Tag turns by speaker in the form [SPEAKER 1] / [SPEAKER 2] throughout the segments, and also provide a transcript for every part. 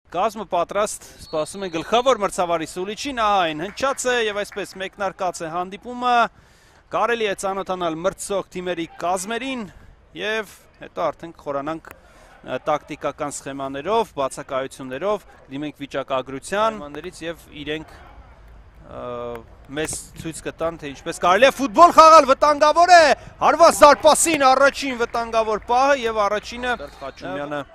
[SPEAKER 1] Կազմը պատրաստ, սպասում են գլխավոր մրցավարի Սուլիչին, ահա այն հնչած է եւ այսպես մեկնարկած է հանդիպումը, կարելի է ծանոթանալ մրցող թիմերի կազմերին եւ հետո արդեն կխորանանք տակտիկական սխեմաներով, բացակայություններով, դիմենք վիճակագրության մաններից եւ իրենք մեզ ցույց կտան թե ինչպես կարելի է ֆուտբոլ խաղալ, վտանգավոր է, հարված զարպասին առաջին վտանգավոր պահը եւ առաջինը Խաչումյանը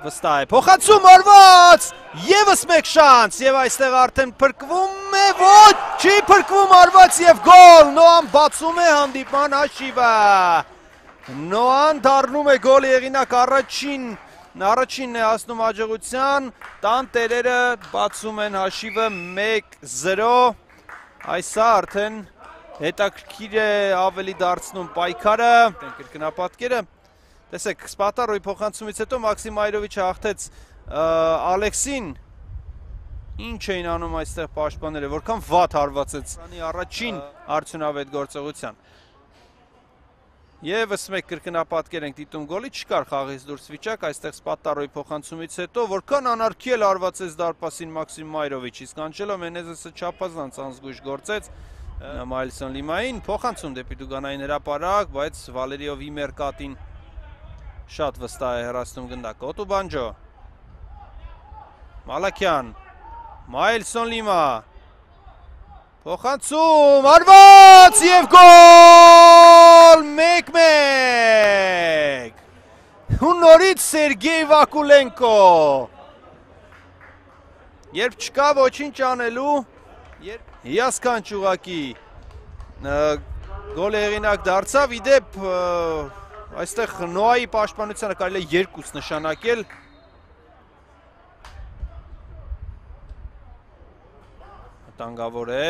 [SPEAKER 1] վստահ է, փոխանցում արված, եւս մեկ շանս եւ այստեղ արդեն փրկվում է, ոչ, չի փրկվում արված եւ գոլ, Նոան բացում է հանդիպման հաշիվը, Նոան դառնում է գոլի հեղինակ առաջինն է հասնում հաջողության, տան տերերը բացում են հաշիվը 1-0, այսա արդեն հետաքրքիր է ավելի դարձնում պայքարը, կրկնապատկերը, տեսեք, Սպատարոյի փոխանցումից հետո Մաքսիմ Այրովիչը հաղթեց Ալեքսին, ինչ էին անում այստեղ պաշտպանները, որքան վատ հարվածեց առաջին արդյունավետ գործողության։ Եվս մեկ կրկնապատկեր ենք դիտում գոլի, չկար խաղից դուրս վիճակ, այստեղ Սպատարոյի փոխանցումից հետո, որքան անարգել հարվածեց դարպասին Մաքսիմ Այրովիչ, իսկ Անջելո Մենեզեսը չափազանց անզգույշ գործեց Մայլսոն Լիմային, փոխանցում դեպի Դուգանային հրապարակ, բայց Վալերիովի Մերկատին շատ վստահ է հեռացնում գնդակը, Օտուբանջո, Մալաքյան, Մայլսոն Լիմա, փոխանցում, արված և գոլ, 1-1, ու նորից Սերգեյ Վակուլենկո, երբ չկա ոչինչ անելու, հիասքանչ ուղղակի, գոլ հեղինակ դարձավ, իդեպ այստեղ Նոայի պաշտպանությանը կարելի է երկուս նշանակել, վտանգավոր է,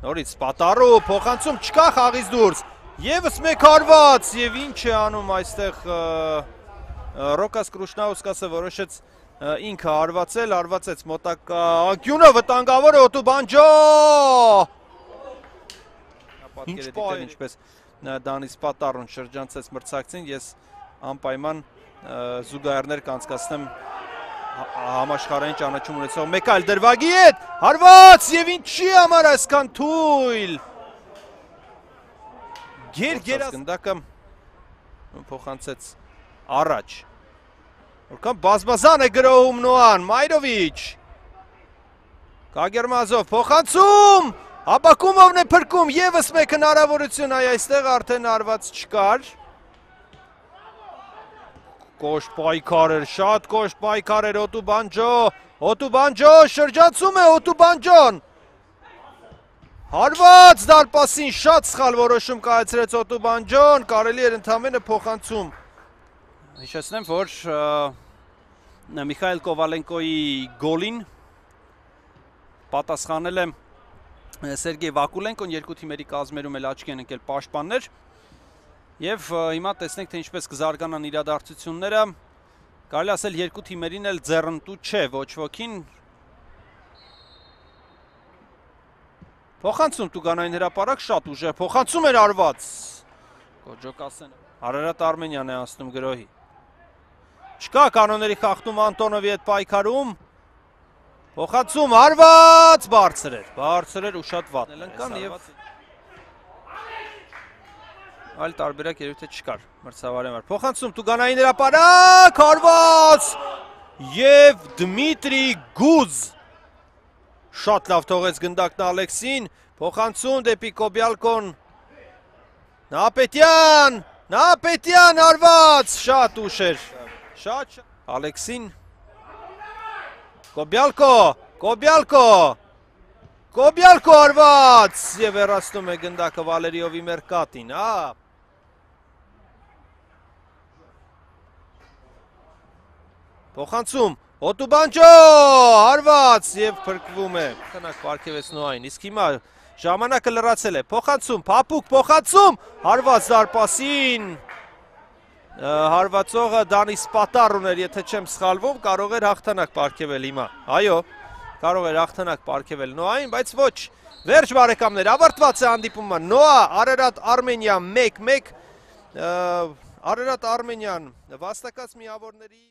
[SPEAKER 1] նորից Սպատարո, փոխանցում չկա խաղից դուրս, եւս մեկ հարված եւ ինչ է անում այստեղ Ռոկաս Կրուշնաուսկասը որոշեց ինքը հարվածեց մոտակա անկյունը, վտանգավոր է Օտուբանջո, ինչ պահ ինչպես Դանի Սպատարոն շրջանցեց մրցակցին, ես անպայման զուգահեռներ կանցկացնեմ համաշխարհային ճանաչում ունեցող մեկ այլ դրվագի հետ, հարված եւ ինչի համար այսքան թույլ, գերգերած գնդակը փոխանցեց առաջ, որքան բազմազան է գրոհում Նոան, Մայրովիչ, Կագերմազով, փոխանցում, Աբակումովն է փրկում, եվս մեկ հնարավորություն, այստեղ արդեն հարված չկար, կոշտ պայքար էր, շատ կոշտ պայքար էր Օտուբանջո, շրջանցում է Օտուբանջոն, հարված դարպասին շատ սխալ որոշում կայացրեց Օտուբանջոն, կարելի էր ընդամենը փոխանցում, հիշեցնեմ, որ Միխայել Կովալենկոյի գոլին պատասխանել է Սերգեյ Վակուլենկոն, երկու թիմերի կազմերում էլ աչքի են ընկել պաշտպաններ եւ հիմա տեսնենք թե ինչպես կզարգանան իրադարձությունները, կարելի ասել երկու թիմերին էլ ձեռնտու չէ, ոչ ոքին, փոխանցում Տուգանային հրապարակ շատ ուժեղ, փոխանցում էր արված, Կոջոկասեն, Արարատ Արմենյան է անցնում գրոհի, չկա կանոնների խախտում Անտոնովի հետ պայքարում, Փոխանցում հարված, բարձր էր ու շատ վատ ընկան եւ այլ տարբերակ երևի թե չկար մրցավարի համար։ Փոխանցում Տուգանային հրապարակ, հարված եւ Դմիտրի Գուզ շատ լավ թողեց գնդակն Ալեքսին, փոխանցում դեպի Կոբյալկոն, Նապետյան հարված, շատ ուշ էր, շատ Ալեքսին Կոբյալկո արված և հեռացնում է գնդակը Վալերիովի Մերկատին, փոխանցում, Օտուբանջո, հարված և փրկվում է, քնակ պարգևեց Նոային, իսկ հիմա ժամանակը լրացել է, փոխանցում, փափուկ փոխանցում, հարված դարպասին, հարվածողը Դանի Սպատարոն էր, եթե չեմ սխալվում, կարող էր հաղթանակ պարգևել հիմա, այո, կարող էր հաղթանակ պարգևել Նոային, բայց ոչ, վերջ բարեկամներ, ավարտված է հանդիպումը, Նոա, Արարատ Արմենիա 1-1, Արարատ Արմենյան վաստակած միավորների